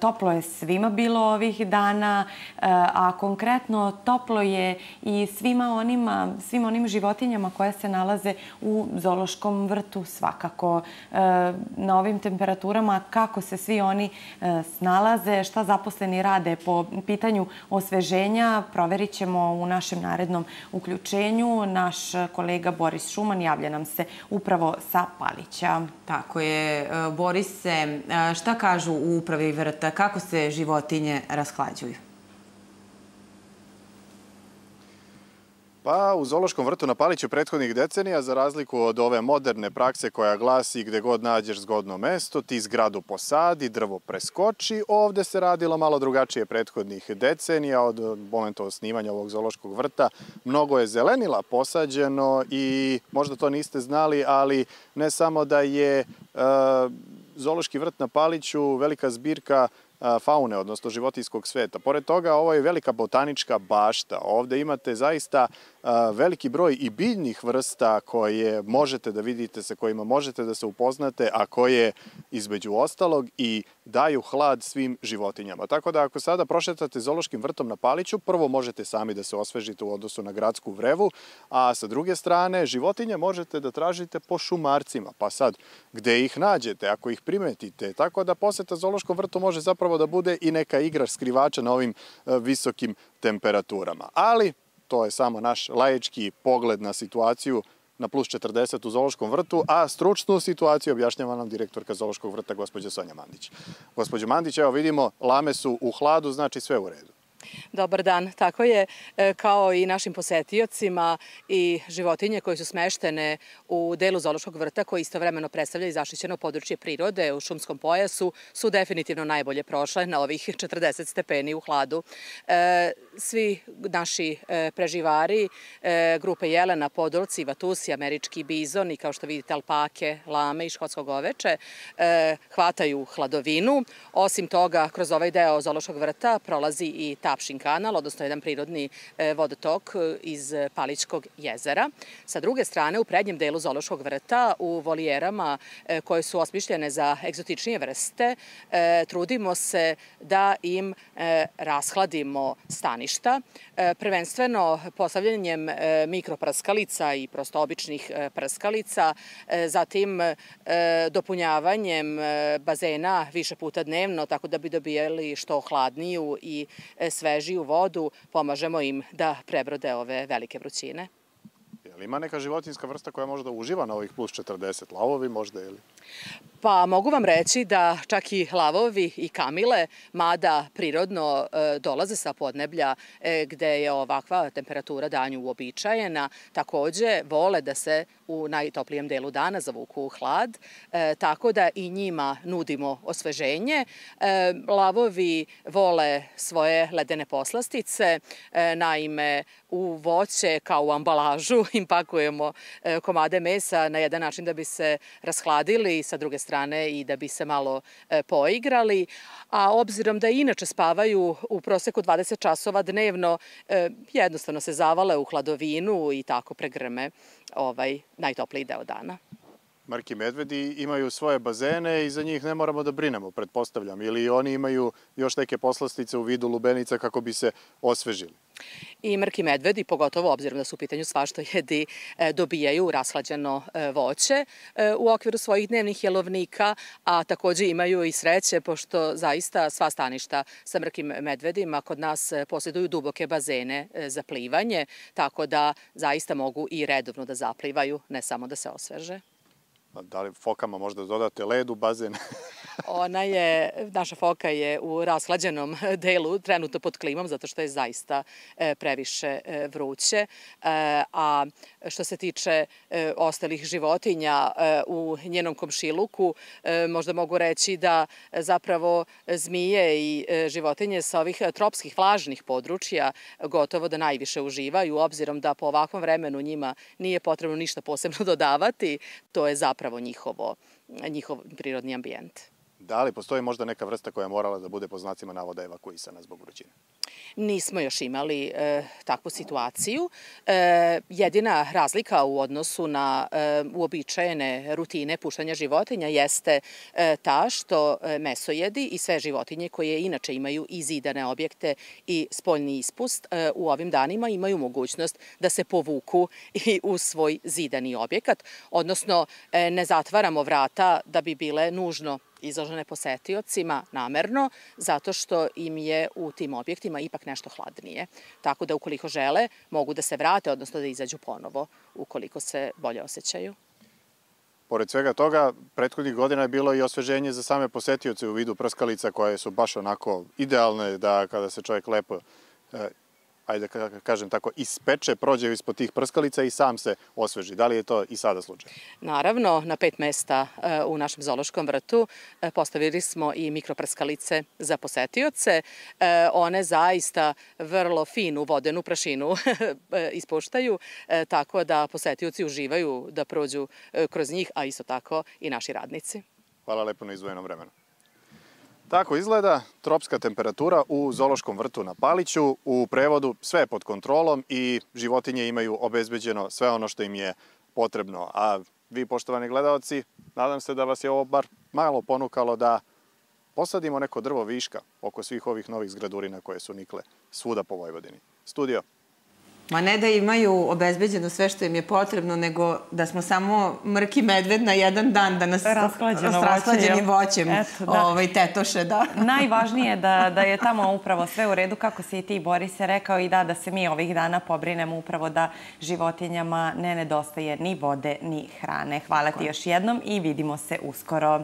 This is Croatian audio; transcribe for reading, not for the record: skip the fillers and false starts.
Toplo je svima bilo ovih dana, a konkretno toplo je i svim onim životinjama koje se nalaze u zoološkom vrtu svakako. Na ovim temperaturama kako se svi oni snalaze, šta zaposleni rade po pitanju osveženja, proverit ćemo u našem narednom uključenju. Naš kolega Boris Šuman javlja nam se upravo sa Palića. Tako je. Borise, šta kažu u upravi vrta? Kako se životinje rashlađuju? Pa u zoološkom vrtu na Paliću prethodnih decenija, za razliku od ove moderne prakse koja glasi gde god nađeš zgodno mesto, ti zgradu posadi, drvo preskoči, ovde se radilo malo drugačije prethodnih decenija od momenta osnivanja ovog zoološkog vrta. Mnogo je zelenila posađeno i možda to niste znali, ali ne samo da je zoološki vrt na Paliću velika zbirka faune, odnosno životinjskog sveta. Pored toga, ovo je velika botanička bašta. Ovde imate zaista veliki broj i biljnih vrsta koje možete da vidite, sa kojima možete da se upoznate, a koje između ostalog i daju hlad svim životinjama. Tako da ako sada prošetate zoološkim vrtom na Paliću, prvo možete sami da se osvežite u odnosu na gradsku vrevu, a sa druge strane životinje možete da tražite po šumarcima. Pa sad, gde ih nađete, ako ih primetite? Tako da poseta zoološkom vrtu može zapravo da bude i neka igra skrivača na ovim visokim temperaturama. Ali to je samo naš laički pogled na situaciju na plus 40 u zoološkom vrtu, a stručnu situaciju objašnjava nam direktorka zoološkog vrta, gospođa Sonja Mandić. Gospođo Mandić, evo vidimo, lame su u hladu, znači sve u redu. Dobar dan, tako je, kao i našim posetiocima i životinje koje su smeštene u delu zoološkog vrta koji istovremeno predstavlja i zaštićeno područje prirode u šumskom pojasu su definitivno najbolje prošle na ovih 40 stepeni u hladu. Svi naši preživari, grupe jelena, podolci, vatusi, američki bizon i kao što vidite alpake, lame i škotsko goveče hvataju hladovinu. Osim toga, kroz ovaj deo zoološkog vrta prolazi i Tapšin kanal, odnosno jedan prirodni vodotok iz Palićkog jezera. Sa druge strane, u prednjem delu zoološkog vrta, u volijerama koje su osmišljene za egzotičnije vrste, trudimo se da im rashladimo staništa, prvenstveno postavljanjem mikroprskalica i prosto običnih prskalica, zatim dopunjavanjem bazena više puta dnevno, tako da bi dobijali što hladniju i svežiju vodu, pomažemo im da prebrode ove velike vrućine. Ima neka životinjska vrsta koja možda uživa na ovih plus 40? Lavovi možda ili? Pa mogu vam reći da čak i lavovi i kamile, mada prirodno dolaze sa podneblja gde je ovakva temperatura danju uobičajena, takođe vole da se u najtoplijem delu dana zavuku u hlad, tako da i njima nudimo osveženje. Lavovi vole svoje ledene poslastice, naime u voće kao u ambalažu im pakujemo komade mesa na jedan način da bi se rashladili, sa druge strane i da bi se malo poigrali, a obzirom da inače spavaju u proseku 20 časova dnevno, jednostavno se zavale u hladovinu i tako pregrme najtopliji deo dana. Marki medvedi imaju svoje bazene i za njih ne moramo da brinemo, pretpostavljam, ili oni imaju još neke poslastice u vidu lubenica kako bi se osvežili. I mrki medvedi, pogotovo obzirom da su u pitanju svaštojedi, dobijaju rashlađeno voće u okviru svojih dnevnih jelovnika, a takođe imaju i sreće, pošto zaista sva staništa sa mrkim medvedima kod nas posjeduju duboke bazene za plivanje, tako da zaista mogu i redovno da zaplivaju, ne samo da se osveže. Da li fokama možda dodate led u bazen? Naša foka je u rashlađenom delu, trenutno pod klimom, zato što je zaista previše vruće. A što se tiče ostalih životinja u njenom komšiluku, možda mogu reći da zapravo zmije i životinje sa ovih tropskih vlažnih područja gotovo da najviše uživaju, obzirom da po ovakvom vremenu njima nije potrebno ništa posebno dodavati. To je zapravo njihov prirodni ambijent. Da li postoji možda neka vrsta koja je morala da bude po znacima navoda evakuisana zbog vrućine? Nismo još imali takvu situaciju. Jedina razlika u odnosu na uobičajene rutine puštanja životinja jeste ta što mesojedi i sve životinje koje inače imaju i zidane objekte i spoljni ispust u ovim danima imaju mogućnost da se povuku i u svoj zidani objekat, odnosno ne zatvaramo vrata da bi bile nužno izložene posetiocima namerno, zato što im je u tim objektima ipak nešto hladnije. Tako da ukoliko žele, mogu da se vrate, odnosno da izađu ponovo, ukoliko se bolje osjećaju. Pored svega toga, prethodnih godina je bilo i osveženje za same posetioce u vidu prskalica koje su baš onako idealne da kada se čovjek lepo, ajde da kažem tako, ispeče, prođe ispod tih prskalica i sam se osveži. Da li je to i sada slučaj? Naravno, na 5 mesta u našem zoološkom vrtu postavili smo i mikroprskalice za posetioce. One zaista vrlo finu vodenu prašinu ispuštaju, tako da posetioci uživaju da prođu kroz njih, a isto tako i naši radnici. Hvala lepo na izdvojenom vremenu. Tako izgleda tropska temperatura u zoološkom vrtu na Paliću. U prevodu sve je pod kontrolom i životinje imaju obezbeđeno sve ono što im je potrebno. A vi, poštovani gledaoci, nadam se da vas je ovo bar malo ponukalo da posadimo neko drvo viška oko svih ovih novih zgradurina koje su nikle svuda po Vojvodini. Studio. Ma ne da imaju obezbeđeno sve što im je potrebno, nego da smo samo mrki medved na jedan dan, da nas s rasklađenim voćem tetoše. Najvažnije je da je tamo upravo sve u redu, kako si i ti, Borise, rekao, i da se mi ovih dana pobrinemo upravo da životinjama ne nedostaje ni vode, ni hrane. Hvala ti još jednom i vidimo se uskoro.